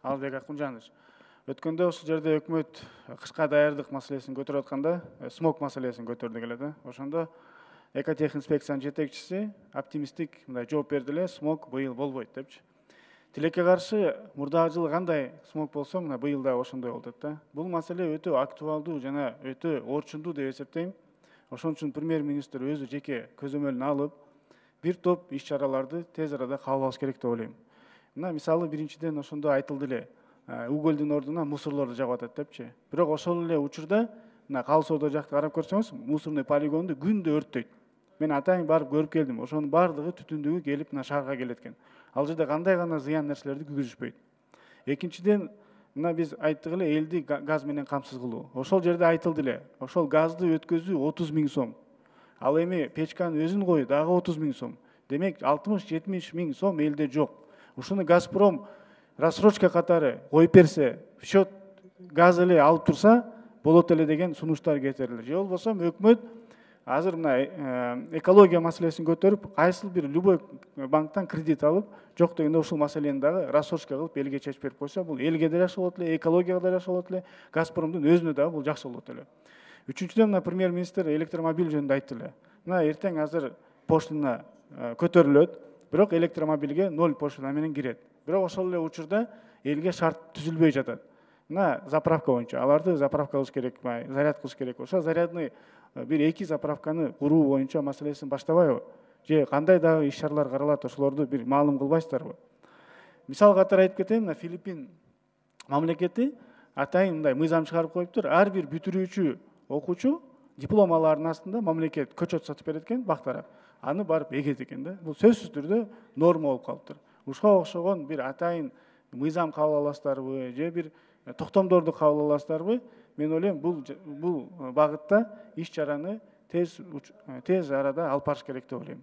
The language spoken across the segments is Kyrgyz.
Албек Акунжанович. Өткөндө ушул жерде өкмөт кышка даярдык маселесин көтөрүп атканда, смог маселесин көтөрдүк эле да. Ошондо экотехинспекциянын жетекчиси оптимисттик мындай жооп берди эле, смог быйыл болбойт депчи. Тилекке каршы мурдагы жылы кандай смог болсо, мына быйыл да ошондой болот да. Бул маселе өтө актуалдуу жана өтө орчундуу деп эсептейм. Ошон үчүн премьер-министр өзү жеке көзөмөлүн алып, бир топ иш-чараларды тез арада кабыл алыш керек деп ойлойм. Мына мисалы биринчиден ошондо айтылды эле, угольдун ордуна мусорлорду жагып атат депчи. Бирок ошол эле учурда мына Калы Соода жакты карап көрсөңүз, мусорный полигонду күндө өрттөйт. Мен атайын барып көрүп келдим. Ошонун баардыгы түтүндүгү келип мына шаарга келет экен. Ал жерде кандай гана зыян нерселерди күйгүзүшпөйт. Экинчиден, мына биз айттык эле элди газ менен камсыз кылуу. Ошол жерде айтылды эле, ошол газды өткөзүү 30 000 сом. Ал эми печканын өзүн коюу дагы 30 000 сом. Демек 60-70 000 сом элде жок. Ушуну Газпром рассрочка катары коюп берсе, счет газ эле алып турса болот эле деген сунуштар кетирилди. Же болбосо өкмөт азыр мына экология маселесин көтөрүп, кайсыл бир любой банктан кредит алып, жок дегенде ушул маселени дагы рассрочка кылып элге чечип берип койсо, бул элге да жакшы болот эле, экологияга да жакшы болот эле, Газпромдун өзүнө дагы бул жакшы болот эле. Үчүнчүдөн, мына премьер-министр электромобиль жөнүндө айтты эле. Мына эртең азыр поштана көтөрүлөт, бирок электромобилге 0 поштана менен кирет. Бирок ошол эле учурда элге шарт түзүлбөй жатат. Мына заправка боюнча аларды заправка кылыш керек, заряд кылыш керек. Ошо зарядный бир 2 заправканы куруу боюнча маселесин баштабайбы? Же кандай дагы иш-чаралар каралат, ошолорду бир маалым кылбайсыздарбы? Мисал катары айтып кетейин, мына Филиппин мамлекети атайын мындай мыйзам чыгарып коюптур. Ар бир бүтүрүүчү окуучу диплом алаардын астында мамлекет көчөт сатып берет экен, бактарап. Аны барып эгет экен да. Бул сөзсүз түрдө норма болуп калыптыр. Ушуга окшогон бир атайын мыйзам кабыл аласыздарбы, же бир токтомдорду кабыл аласыздарбы? Мен ойлойм, бул багытта иш-чараны тез арада алып барыш керек деп ойлойм.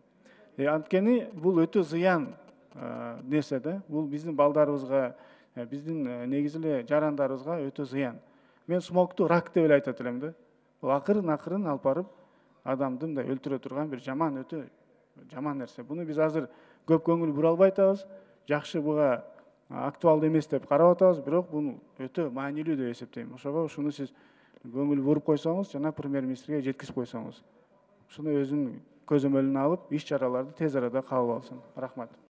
Анткени бул өтө зыян нерсе да. Бул биздин балдарыбызга, биздин негизи эле жарандарыбызга өтө зыян. Мен смогту рак деп эле айтат элем да. Бул акырын алып барып адамды мындай өлтүрө турган бир жаман, өтө жаман нерсе. Буну биз азыр көп көңүл бура албай атабыз. Жакшы, буга актуалдуу эмес деп карап атабыз, бирок бул өтө маанилүү деп эсептейм. Ошого ушуну сиз көңүл буруп койсоңуз жана премьер-министрге жеткизип койсоңуз, ушуну өзүнүн көзөмөлүнө алып, иш-чараларды тез арада кабыл алсын. Рахмат.